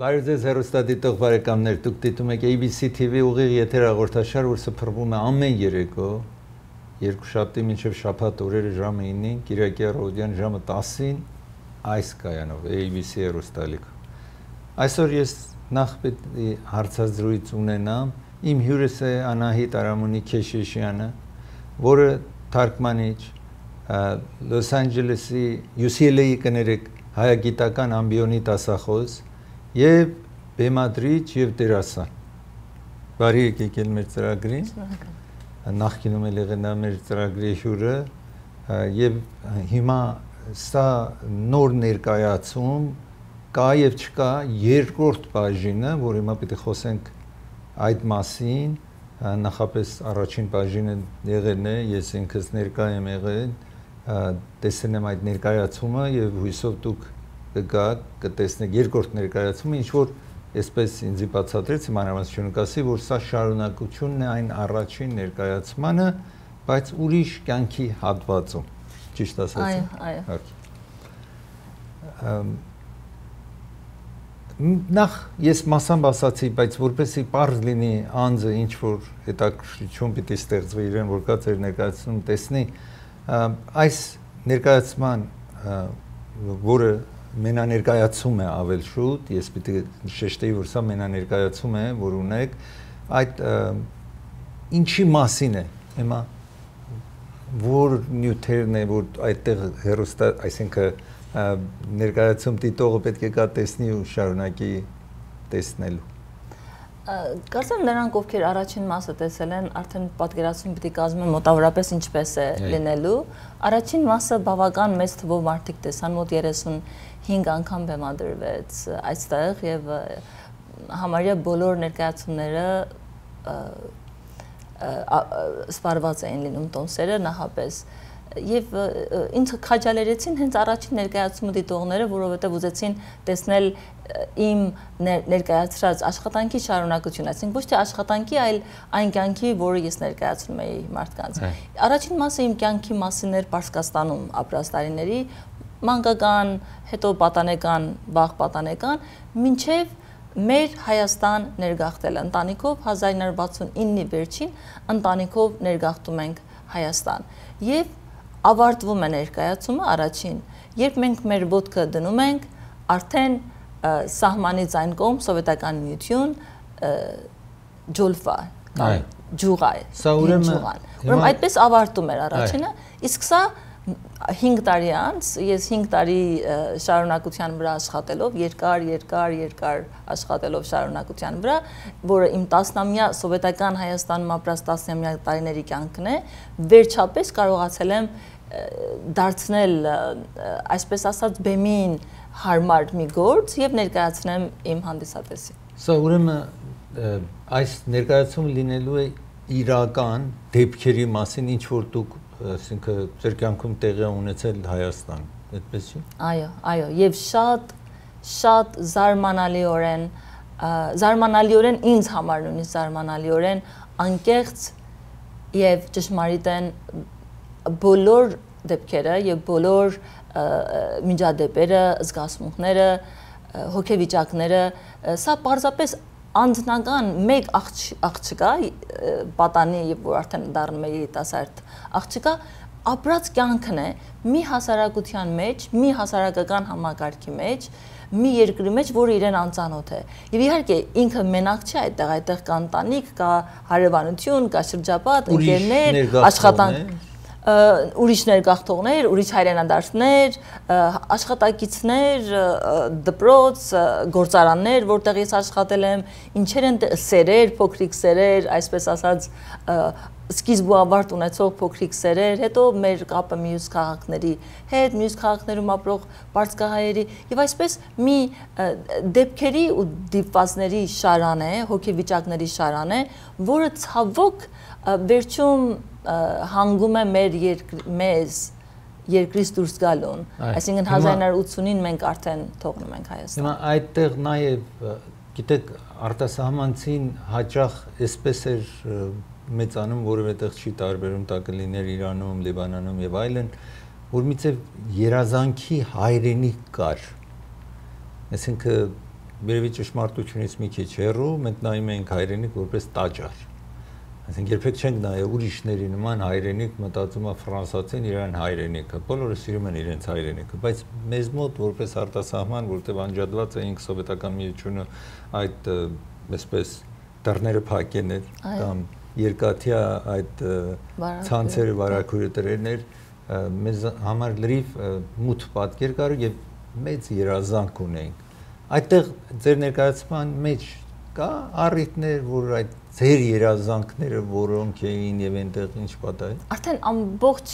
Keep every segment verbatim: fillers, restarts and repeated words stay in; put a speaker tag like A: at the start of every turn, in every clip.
A: Բարև ձեզ հեռուստադիտող բարեկամներ, դուք դիտում եք A B C T V ուղիղ եթեր հաղորդաշար, որ սփռվում է ամեն երեկո, երկուշաբթի մինչև շաբաթ օրերը ժամը ինին, Կիրակի առավոտյան ժամը տասին այս կայանով A B C հեռուստալիքով։ Այսօր ես նախ պետք է հարցազրույց ունենամ, իմ հյուրս է Անահիտ Արամունի Քեշեշյանը, որը թարգմանիչ, Լոս Անջելեսի U C L A-ի կներեք հայագիտական ամբիոնի դասախոս եւ բեմադրիչ եւ դերասան։ Բարի եկեք ել մեր ծրագրին։ Նախկինում էլ եղել է մեր ծրագրի հյուրը եւ հիմա սա նոր ներկայացում կա եւ չկա երկրորդ բաժինը, որ հիմա պետք է խոսենք այդ մասին, նախապես առաջին բաժինը եղել է, ես ինքս ներկա եմ եղել, տեսնեմ այդ ներկայացումը եւ հույսով դուք կգաք, կտեսնեք երկրորդ ներկայացումը, ինչ որ այսպես ինձ բացատրեց, մանրամասնություն կասի, որ սա շարունակությունն է այն առաջին ներկայացմանը, բայց ուրիշ կյանքի հատվածում։ Ճիշտ ասացի։
B: Այո, այո։
A: Նախ ես մասամբ ասացի, բայց որպեսզի պարզ լինի անձը ինչ որ հետաքրքրություն պիտի ստեղծվի իրեն, որ կա ձեր ներկայացում տեսնի, այս ներկայացման, որը մենաներկայացում է ավել շուտ, ես պիտի շեշտեի, որ սա մենաներկայացում է, որ ունեք, այդ ինչի մասին է, հիմա, որ նյութերն է, որ այդտեղ հեռուստա, այսինքն ներկայացում դիտողը պետք է կա տեսնի ու շարունակի տեսնելու։
B: Կարծեմ նրանք, ովքեր առաջին մասը տեսել են, արդեն պատկերացում պիտի կազմեն մոտավորապես ինչպես է լինելու։ Առաջին մասը բավական մեծ թվով մարդիկ տեսան, մոտ երեսունհինգ անգամ բեմադրվեց այստեղ եւ համարյա բոլոր ներկայացումները սպառված էին լինում տոմսերը նախապես եւ ինձ քաջալերեցին հենց առաջին ներկայացումը դիտողները, որովհետեւ ուզեցին տեսնել իմ ներկայացրած աշխատանքի շարունակությունը, այսինքն ոչ թե աշխատանքի, այլ այն կյանքի, որը ես ներկայացնում էի մարդկանց։ Առաջին մասը իմ կյանքի մասին էր Պարսկաստանում ապրած տարիների, մանկական, հետո պատանեկան, վաղ պատանեկան, մինչև մեր Հայաստան ներգաղթելը ընտանիքով հազար ինը հարյուր վաթսունինի վերջին ընտանիքով ներգաղթում ենք Հայաստան։ Եվ ավարտվում է ներկայացումը առաջին, երբ մենք մեր ոտքը դնում ենք, արդեն սահմանից այն կողմ սովետական միություն ջոլֆա, ջուղա է, ուրեմն այդպես ավարտում էր առաջինը, իսկ սա հինգ տարի անց, ես հինգ տարի շարունակության վրա աշխատելով, երկար, երկար, երկար աշխատելով շարունակության վրա, որը իմ տասնամյա սովետական Հայաստանում ապրած տասնամյա տարիների կյանքն է, վերջապես կարողացել եմ դարձնել, այսպես ասած, բեմին հարմար մի գործ եւ ներկայացնեմ իմ հանդիսատեսին։
A: Սա ուրեմն այս ներկայացումը լինելու է իրական դեպքերի մասին, ինչ որ դուք, ասինքն ձեր կյանքում տեղի ունեցել Հայաստան, այդպես չի։
B: Այո, այո, եւ շատ շատ զարմանալիորեն, զարմանալիորեն ինձ համար նույնիսկ զարմանալիորեն անկեղծ եւ ճշմարիտ են բոլոր դեպքերը եւ բոլոր միջադեպերը, զգացմունքները, հոգեվիճակները, սա պարզապես անձնական մեկ աղջկա, պատանի, որ արդեն դառնում է երիտասարդ աղջկա, ապրած կյանքն է մի հասարակության մեջ, մի հասարակական համակարգի մեջ, մի երկրի մեջ, որը իրեն անծանոթ է։ Եվ իհարկե ինքը մենակ չէ այդտեղ, այդտեղ կա ընտանիք, կա հարևանություն, կա շրջապատ, ընկերներ, աշխատանք, ուրիշ ներգաղթողներ, ուրիշ հայրենադարձներ, աշխատակիցներ, դպրոց, գործարաններ, որտեղ ես աշխատել եմ, ինչեր են սերեր, փոքրիկ սերեր, այսպես ասած, սկիզբ ու ավարտ ունեցող փոքրիկ սերեր, հետո մեր կապը մյուս քաղաքների հետ, մյուս քաղաքներում ապրող պարսկահայերի եւ այսպես մի դեպքերի ու դիպվածների շարան է, հոգեվիճակների շարան է, որը ցավոք վերջում հանգում է մեր մեզ երկրից դուրս գալուն, այսինքն հազար ինը հարյուր ութսունին մենք արդեն թողնում ենք Հայաստան։
A: Հիմա այդտեղ նաև, գիտեք, արտասահմանցին հաճախ այսպես էր մեծանում, որովհետև չի տարբերում, դա կլիներ Իրանում, Լիբանանում եւ այլն, որ միցև երազանքի հայրենիք կար, այսինքն երևի ճշմարտությունից մի քիչ հեռու, մենք նայում ենք հայրենիք որպես տաճար։ Այսինքն երբեք չենք նայել ուրիշների նման հայրենիք, մտածում է ֆրանսացին իրեն հայրենիքը, բոլորը սիրում են իրենց հայրենիքը, բայց մեզ մոտ որպես արտասահման, որտեղ անջատված էինք սովետական միությունը այդ այսպես դռները փակեն էր կամ երկաթյա այդ ցանցերը վարակույրը դրերներ մեզ համար լրիվ մութ պատկեր կար եւ մեծ երազանք ունենք։ Այդտեղ ձեր ներկայացման մեջ կա առիթներ, որ այդ ձեր երազանքները որոնք էին եւ այնտեղ ինչ պատահեց։
B: Արդեն ամբողջ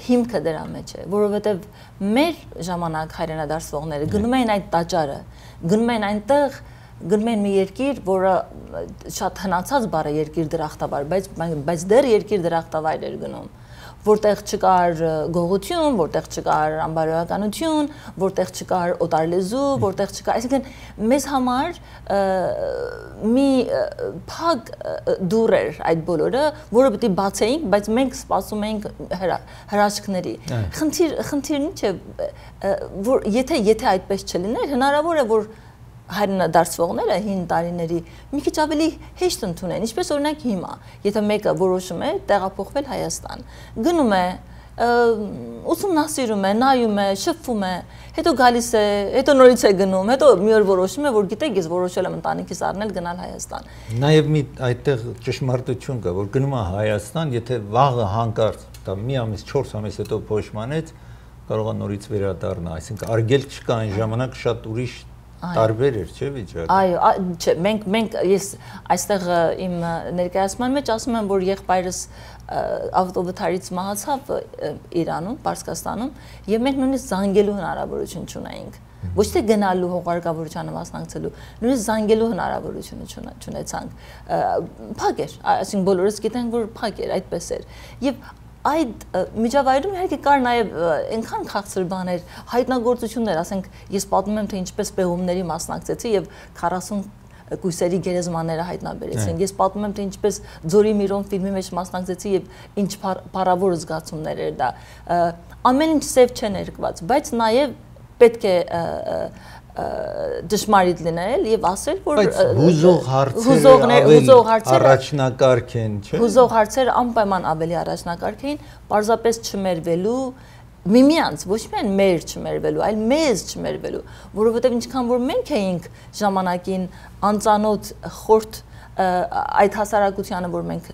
B: հիմքը դրա մեջ է, որովհետեւ մեր ժամանակ հայրենադարձվողները գնում էին այդ տաճարը, գնում էին այնտեղ, գնում էին մի երկիր, որը շատ հնացած բառ է երկիր դրախտավայր, բայց բայց դեռ երկիր դրախտավայր էր գնում, որտեղ չկար գողություն, որտեղ չկար անբարոյականություն, որտեղ չկար օտար լեզու, որտեղ չկար, այսինքն մեզ համար մի փակ դուռ էր այդ բոլորը, որը պետք է բացեինք, բայց մենք սպասում էինք հրաշքների։ Խնդիր, խնդիրն ինչ է, որ եթե եթե այդպես չլիներ, հնարավոր է որ հայրենադարձվողները հին տարիների մի քիչ ավելի հեշտ ընդունեն, ինչպես օրինակ հիմա, եթե մեկը որոշում է տեղափոխվել Հայաստան, գնում է, ուսումնասիրում է, նայում է, շփվում է, հետո գալիս է, հետո նորից է գնում, հետո մի օր որոշում է, որ գիտեք, ես որոշել եմ ընտանիքիս առնել գնալ Հայաստան։
A: Նաև մի այդտեղ ճշմարտություն կա, որ գնում է Հայաստան, եթե վաղը հանկարծ, դա մի ամիս, չորս ամիս հետո փոշմանեց, կարող է նորից վերադառնա, այսինքն արգելք չկա այն ժամանակ շատ ուրիշ տարբեր էր, չէ՞ վիճակը։
B: Այո, չէ, մենք մենք ես այստեղ իմ ներկայացման մեջ ասում եմ, որ եղբայրս ավտովթարից մահացավ Իրանում, Պարսկաստանում, եւ մենք նույնիսկ զանգելու հնարավորություն չունեինք։ Ոչ թե գնալու հողարկավորությանը մասնակցելու, նույնիսկ զանգելու հնարավորություն չունեցանք։ Փակ էր, այսինքն բոլորս գիտենք, որ փակ էր, այդպես էր։ Եվ այդ միջավայրում իհարկե կար նաև այնքան քաղցր բաներ, հայտնագործություններ, ասենք ես պատմում եմ թե ինչպես պեղումների մասնակցեցի եւ քառասուն կույսերի գերեզմանները հայտնաբերեցին։ Ես պատմում եմ թե ինչպես Ձորի Միրոն ֆիլմի մեջ մասնակցեցի եւ ինչ փառավոր զգացումներ էր դա։ Ամեն ինչ սև չէ ներկված, բայց նաև պետք է դժմարիտ լինել եւ ասել, որ
A: հուզող հարցերը առաջնակարգ են, չէ՞։
B: Հուզող հարցերը անպայման ավելի առաջնակարգ էին, պարզապես չմերվելու, միմյանց, ոչ միայն մեր չմերվելու, այլ մեզ չմերվելու, որովհետեւ ինչքան որ մենք էինք ժամանակին անծանոթ խորտ այդ հասարակությանը, որ մենք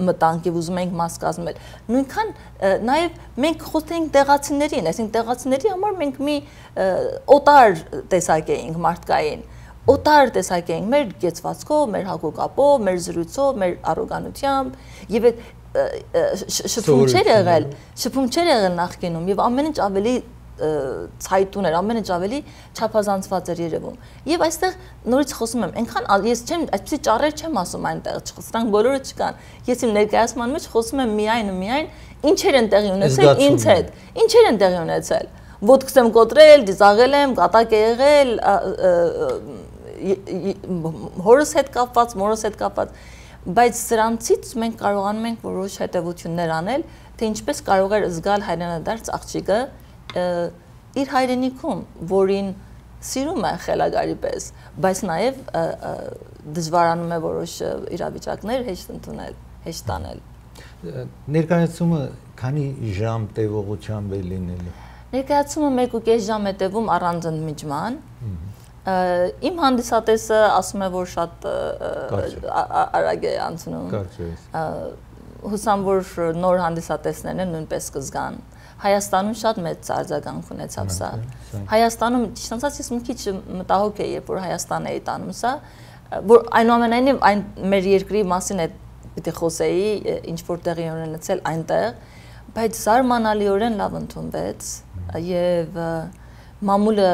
B: մտանք եւ ուզում ենք մաս կազմել, նույնքան նաեւ մենք խոսենք տեղացիներին, այսինքն տեղացիների համար մենք մի օտար տեսակ էինք մարդկային, օտար տեսակ էինք մեր գեցվածքով, մեր հագուկապով, մեր զրույցով, մեր առոգանությամբ եւ այդ շփում չէր եղել, շփում չէր եղել նախկինում եւ ամեն ինչ ավելի ցայտուն էր, ամեն ինչ ավելի չափազանցված էր երևում։ Եվ այստեղ նորից խոսում եմ, այնքան ես չեմ այսպեսի ճառեր չեմ ասում այնտեղ, սրանք բոլորը չկան։ Ես իմ ներկայացման մեջ խոսում եմ միայն ու միայն ինչեր են տեղի ունեցել ինձ հետ, ինչեր են տեղի ունեցել։ Ոտքս եմ կոտրել, դիզաղել եմ, կատակ է եղել, հորս հետ կապված, մորս հետ կապված, բայց սրանցից մենք կարողանում ենք որոշ հետևություններ անել, թե ինչպես կարող է զգալ հայրենադարձ աղջիկը իր հայրենիքում, որին սիրում է խելագարի պես, բայց նաև դժվարանում է որոշ իրավիճակներ հեշտ ընդունել, հեշտ տանել։
A: Ներկայացումը քանի ժամ տևողությամբ է լինելու։
B: Ներկայացումը մեկ ու կես ժամ է տևում առանց ընդմիջման։ Իմ հանդիսատեսը ասում է, որ շատ արագ է անցնում։ Հուսամ, որ նոր հանդիսատեսներն են նույնպես կզգան։ Հայաստանում շատ մեծ արձագանք ունեցավ սա։ Հայաստանում ճիշտ ասած ես մի քիչ մտահոգ էի, երբ որ Հայաստան էի տանում սա, որ այնուամենայնիվ այն մեր երկրի մասին է պիտի խոսեի, ինչ որ տեղի ունեցել այնտեղ, բայց զարմանալիորեն լավ ընդունվեց եւ մամուլը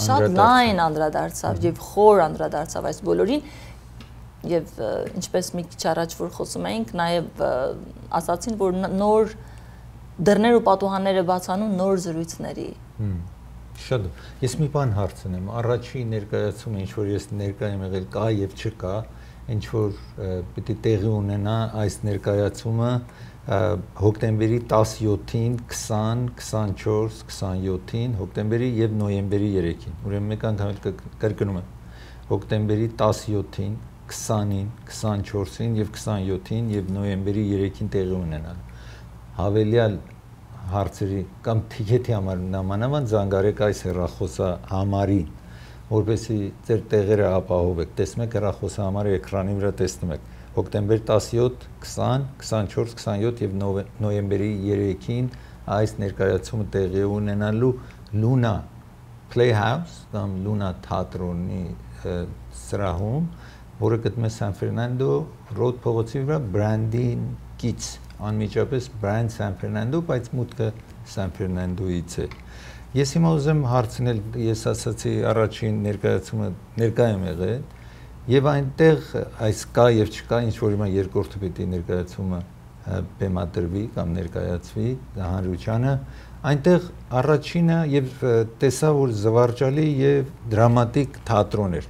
B: շատ լայն անդրադարձավ եւ խոր անդրադարձավ այս բոլորին եւ ինչպես մի քիչ առաջ որ խոսում էինք, նաեւ ասացին, որ նոր դռներ ու պատուհանները բացանում նոր զրույցների։
A: Շատ։ Ես մի բան հարցնեմ, առաջի ներկայացումը, ինչ որ ես ներկայ եմ եղել, կա եւ չկա, ինչ որ պիտի տեղի ունենա այս ներկայացումը հոկտեմբերի տասնյոթին, քսան, քսանչորս, քսանյոթին, հոկտեմբերի եւ նոյեմբերի երեքին։ Ուրեմն մեկ անգամ էլ կրկնում եմ։ Հոկտեմբերի տասնյոթին, քսանին, քսանչորսին եւ քսանյոթին եւ նոյեմբերի երեքին տեղի ունենալ։ Հավելյալ հարցերի կամ թիքեթի համար նամանավանդ զանգարեք այս հեռախոսա համարին, որպեսզի ձեր տեղերը ապահովեք։ Տեսնում եք հեռախոսահամարը էկրանի վրա տեսնում եք։ Հոկտեմբեր տասնյոթ, քսան, քսանչորս, քսանյոթ եւ նոյեմբերի երեքին այս ներկայացումը տեղի ունենալու Luna Playhouse կամ Luna թատրոնի սրահում, որը գտնվում է San Fernando Road փողոցի վրա, Brandin Kids, անմիջապես Brand San Fernando, բայց մուտքը San Fernando-ից է։ Ես հիմա ուզեմ հարցնել, ես ասացի առաջին ներկայացումը ներկա եմ եղել, եւ այնտեղ այս կա եւ չկա, ինչ որ հիմա երկրորդը պիտի ներկայացումը բեմադրվի կամ ներկայացվի հանրությանը, այնտեղ առաջինը եւ տեսա, որ զվարճալի եւ դրամատիկ թատրոն էր։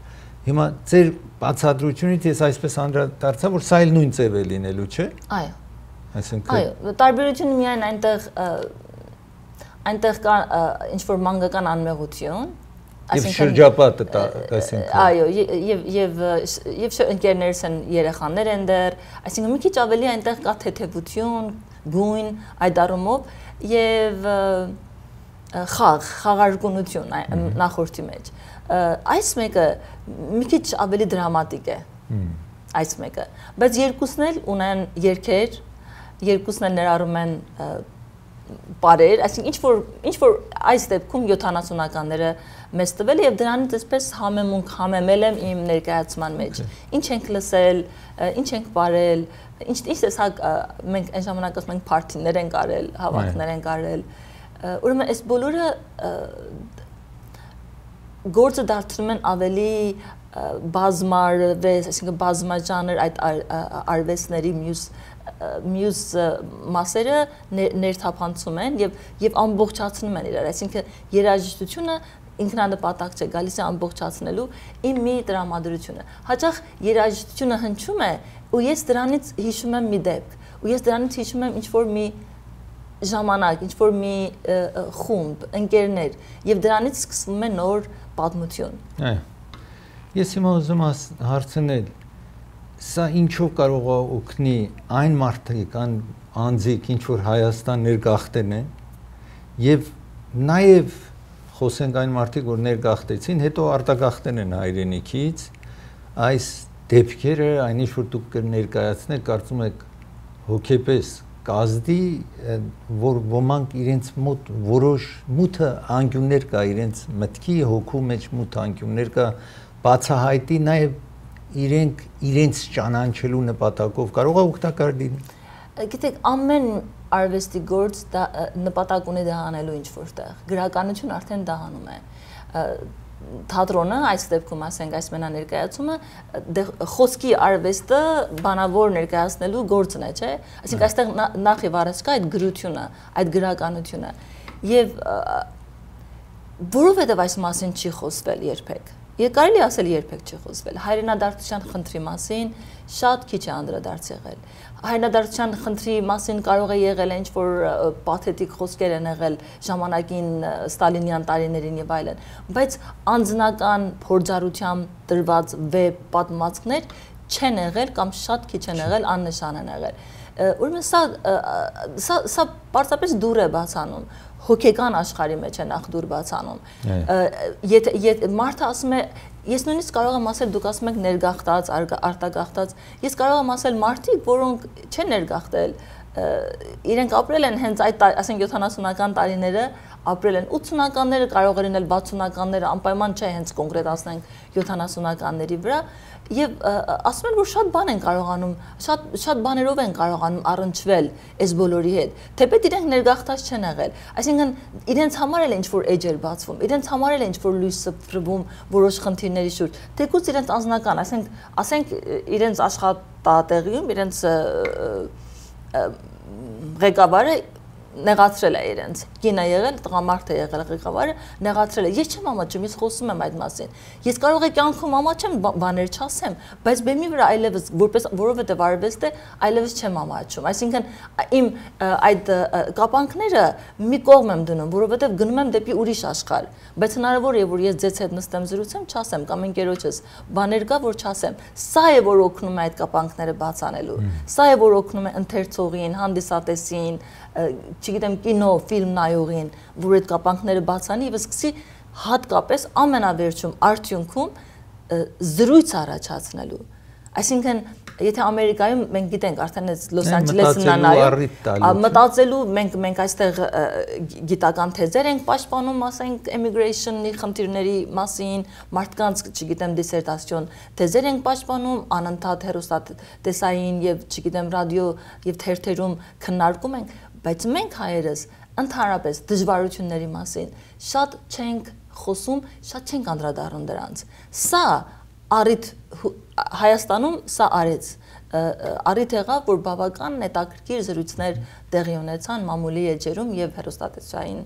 A: Հիմա ձեր բացատրությունից ես այսպես անդրադարձա, որ սա էլ նույն ձև է լինելու, չէ՞։ Այո։ Այսինքն
B: Այո, տարբերությունը միայն այնտեղ այնտեղ կա ինչ որ մանկական անմեղություն,
A: Եվ շրջապատը այսինքն
B: Այո, եւ եւ եւ ընկերներս են, երեխաներ են դեռ, այսինքն մի քիչ ավելի այնտեղ կա թեթևություն, գույն, այդ առումով եւ խաղ, խաղարկունություն նախորդի մեջ։ Այս մեկը մի քիչ ավելի դրամատիկ է։ Այս մեկը, բայց երկուսն էլ ունեն երգեր, երկուսն էլ ներառում են բարեր, այսինքն ինչ որ ինչ որ այս դեպքում յոթանասունականները մեզ տվել եւ դրանից այսպես համեմունք համեմել եմ իմ ներկայացման մեջ։ Ինչ ենք լսել, ինչ ենք բարել, ինչ ինչ տեսակ մենք այն ժամանակ ասում ենք փարթիներ ենք արել, հավաքներ ենք արել։ Ուրեմն այս բոլորը գործը դարձնում են ավելի բազմարվես, այսինքն բազմաժանր այդ արվեստների մյուս մյուս մասերը ներթափանցում են եւ եւ ամբողջացնում են իրար, այսինքն երաժշտությունը ինքնանպատակ չէ, գալիս է ամբողջացնելու իմ մի տրամադրությունը։ Հաճախ երաժշտությունը հնչում է ու ես դրանից հիշում եմ մի դեպք, ու ես դրանից հիշում եմ ինչ որ մի ժամանակ, ինչ որ մի խումբ, ընկերներ, եւ դրանից սկսվում է նոր պատմություն։
A: Այո։ Ես հիմա ուզում հարցնել, սա ինչով կարող է օգնի այն մարդիկ, այն անձիկ, ինչ որ Հայաստան ներգաղթեն են, եւ նաեւ խոսենք այն մարդիկ, որ ներգաղթեցին, հետո արտագաղթեն են հայրենիքից, այս դեպքերը, այն ինչ որ դուք կներկայացնեք, կարծում եք հոգեպես կազդի, որ ոմանք իրենց մոտ որոշ մութը անկյուններ կա, իրենց մտքի հոգու մեջ մութ անկյուններ կա, բացահայտի նաեւ իրենք իրենց ճանաչելու նպատակով կարող է օգտակար լինի։
B: Գիտեք, ամեն արվեստի գործ նպատակ ունի դա անելու ինչ որտեղ։ Գրականություն արդեն դա անում է։ Թատրոնը, այս դեպքում ասենք այս մենաներկայացումը, խոսքի արվեստը բանավոր ներկայացնելու գործն է, չէ՞։ Այսինքն այստեղ նախ եւ առաջ կա այդ գրությունը, այդ գրականությունը։ Եվ որովհետեւ այս մասին չի խոսվել երբեք։ Եվ կարելի ասել երբեք չի խոսվել։ Հայրենադարձության խնդրի մասին շատ քիչ է անդրադարձ եղել։ Հայրենադարձության խնդրի մասին կարող է եղել ինչ որ պաթետիկ խոսքեր են եղել ժամանակին ստալինյան տարիներին եւ այլն, բայց անձնական փորձառությամբ տրված վեբ պատմվածքներ չեն եղել կամ շատ քիչ են եղել, աննշան են եղել։ Ուրեմն սա սա սա պարզապես դուր է բացանում, հոգեկան աշխարհի մեջ է նախ դուր բացանում։ Եթե մարդը ասում է, ես նույնիսկ կարող եմ ասել, դուք ասում եք ներգաղթած, արտագաղթած, ես կարող եմ ասել մարդիկ, որոնք չեն ներգաղթել, իրենք ապրել են հենց այդ, ասենք յոթանասունական տարիները, ապրել են ութսունականները, կարող են լինել վաթսունականները, անպայման չէ հենց կոնկրետ ասենք յոթանասունականների վրա, եւ ասում են, որ շատ բան են կարողանում, շատ շատ բաներով են կարողանում առնչվել այս բոլորի հետ, թեպետ իրենք ներգաղթած չեն եղել, այսինքն իրենց համար էլ ինչ որ էջ էր բացվում, իրենց համար էլ ինչ որ լույս սփռվում որոշ խնդիրների շուրջ, թեկուզ իրենց անձնական, ասենք, ասենք իրենց աշխատատեղիում իրենց ղեկավարը նեղացրել է իրենց։ Կինը եղել, տղամարդը եղել ղեկավարը, նեղացրել է։ Ես չեմ ամաչում, ես խոսում եմ այդ մասին։ Ես կարող եմ կյանքում ամաչեմ, բաներ չասեմ, բայց բեմի վրա այլևս որպես որովհետև արվեստ է, այլևս չեմ ամաչում։ Այսինքն իմ այդ կապանքները մի կողմ եմ դնում, որովհետև գնում եմ դեպի ուրիշ աշխարհ։ Բայց հնարավոր է, որ ես ձեզ հետ նստեմ զրուցեմ, չասեմ կամ ընկերոջս բաներ կա, որ չասեմ։ Սա է, որ օգնում է այդ կապանքները բացանելու։ Սա է, որ օգնում է ընթերցողին, հանդիսատեսին, չգիտեմ, կինո, ֆիլմ նայողին, որ այդ կապանքները բացանի եւ սկսի հատկապես ամենավերջում արդյունքում զրույց առաջացնելու։ Այսինքն, եթե Ամերիկայում մենք գիտենք արդեն այս Լոս Անջելեսն նայում, մտածելու մենք մենք այստեղ գիտական թեզեր ենք պաշտպանում, ասենք immigration-ի խնդիրների մասին, մարդկանց, չգիտեմ, դիսերտացիոն թեզեր ենք պաշտպանում, անընդհատ հեռուստատեսային եւ, չգիտեմ, ռադիո եւ թերթերում քննարկում ենք, բայց մենք հայերս ընդհանրապես դժվարությունների մասին շատ չենք խոսում, շատ չենք անդրադառնում դրանց։ Սա առիթ Հայաստանում սա արեց առիթ եղավ, որ բավական հետաքրքիր զրույցներ տեղի ունեցան մամուլի էջերում եւ հեռուստատեսային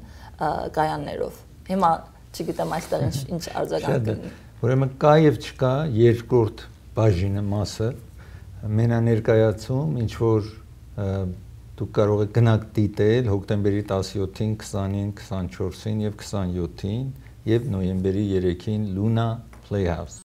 B: կայաններով։ Հիմա չգիտեմ այստեղ ինչ ինչ արձագանք կլինի։
A: Ուրեմն կա եւ չկա երկրորդ բաժինը մասը մենաներկայացում, ինչ որ դուք կարող եք գնաք դիտել հոկտեմբերի տասնյոթին, քսանին, քսանչորսին եւ քսանյոթին եւ նոյեմբերի երեքին Luna Playhouse